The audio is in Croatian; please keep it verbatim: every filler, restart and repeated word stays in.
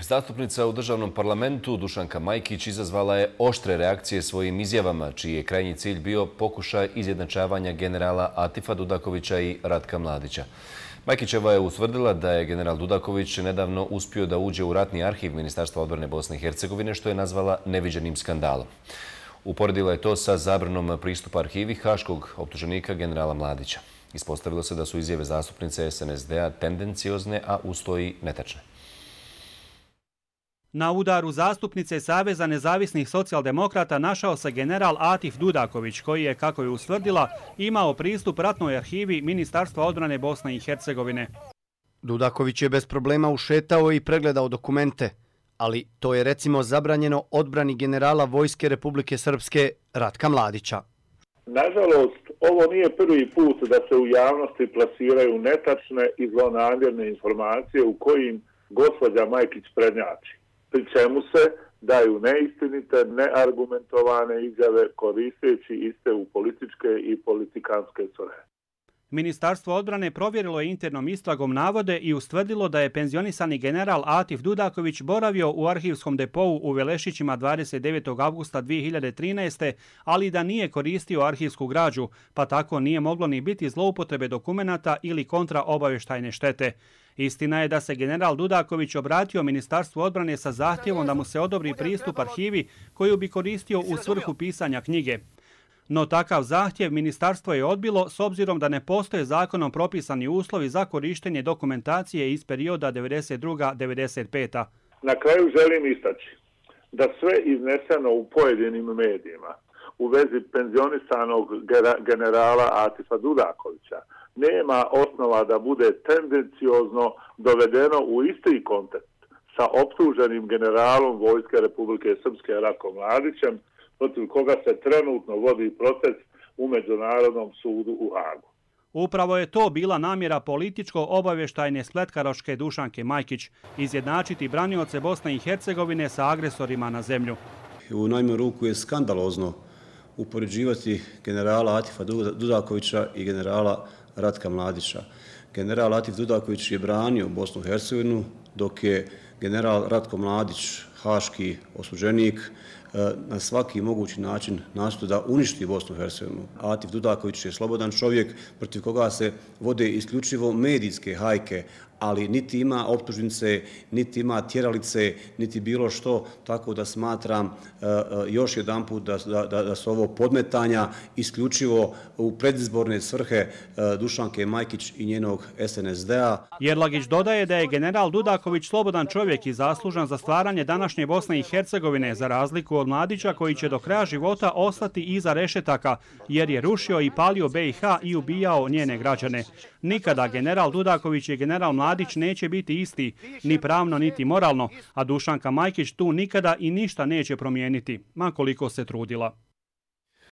Zastupnica u državnom parlamentu Dušanka Majkić izazvala je oštre reakcije svojim izjavama, čiji je krajnji cilj bio pokušaj izjednačavanja generala Atifa Dudakovića i Ratka Mladića. Majkićeva je utvrdila da je general Dudaković nedavno uspio da uđe u ratni arhiv Ministarstva odbrane Bosne i Hercegovine, što je nazvala neviđenim skandalom. Uporedila je to sa zabranom pristupa arhivi haškog optuženika generala Mladića. Ispostavilo se da su izjave zastupnice S N S D-a tendenciozne, a uz to i netačne. Na udaru zastupnice Saveza nezavisnih socijaldemokrata našao se general Atif Dudaković, koji je, kako je ustvrdila, imao pristup ratnoj arhivi Ministarstva odbrane Bosne i Hercegovine. Dudaković je bez problema ušetao i pregledao dokumente, ali to je recimo zabranjeno odbrani generala Vojske Republike Srpske Ratka Mladića. Nažalost, ovo nije prvi put da se u javnosti plasiraju netačne i zlonamjerne informacije u kojim gospođa Majkić prednjači, pri čemu se daju neistinite, neargumentovane izjave koristeći iste u političke i politikanske svrhe. Ministarstvo odbrane provjerilo je internom istragom navode i ustvrdilo da je penzionisani general Atif Dudaković boravio u arhivskom depou u Velešićima dvadeset devetog avgusta dvije hiljade trinaeste. ali da nije koristio arhivsku građu, pa tako nije moglo ni biti zloupotrebe dokumenata ili kontraobavještajne štete. Istina je da se general Dudaković obratio Ministarstvu odbrane sa zahtjevom da mu se odobri pristup arhivi koju bi koristio u svrhu pisanja knjige. No takav zahtjev ministarstvo je odbilo s obzirom da ne postoje zakonom propisani uslovi za korištenje dokumentacije iz perioda devedeset druga do devedeset peta. Na kraju želim istaći da sve izneseno u pojedinim medijima u vezi penzionisanog generala Atifa Dudakovića nema osnova da bude tendenciozno dovedeno u isti kontekst sa optuženim generalom Vojske Republike Srpske Ratkom Mladićem, protiv koga se trenutno vodi proces u Međunarodnom sudu u Hagu. Upravo je to bila namjera političko-obavještajne spletkaroške Dušanke Majkić, izjednačiti branioce Bosne i Hercegovine sa agresorima na zemlju. U najmanju ruku je skandalozno upoređivati generala Atifa Dudakovića i generala Ratka Mladića. General Atif Dudaković je branio Bosnu i Hercegovinu, dok je general Ratko Mladić, haški osuđenik, na svaki mogući način nastoji da uništi Bosnu i Hercegovinu. Atif Dudaković je slobodan čovjek protiv koga se vode isključivo medijske hajke, ali niti ima optužnice, niti ima tjeralice, niti bilo što, tako da smatram još jedan put da, da, da su ovo podmetanja isključivo u predizborne svrhe Dušanke Majkić i njenog S N S D-a. Jerlagić dodaje da je general Dudaković slobodan čovjek i zaslužan za stvaranje današnje Bosne i Hercegovine, za razliku od Mladića koji će do kraja života ostati iza rešetaka, jer je rušio i palio B i H i ubijao njene građane. Nikada general Dudaković i general Mladić neće biti isti, ni pravno, niti moralno, a Dušanka Majkić tu nikada i ništa neće promijeniti, ma koliko se trudila.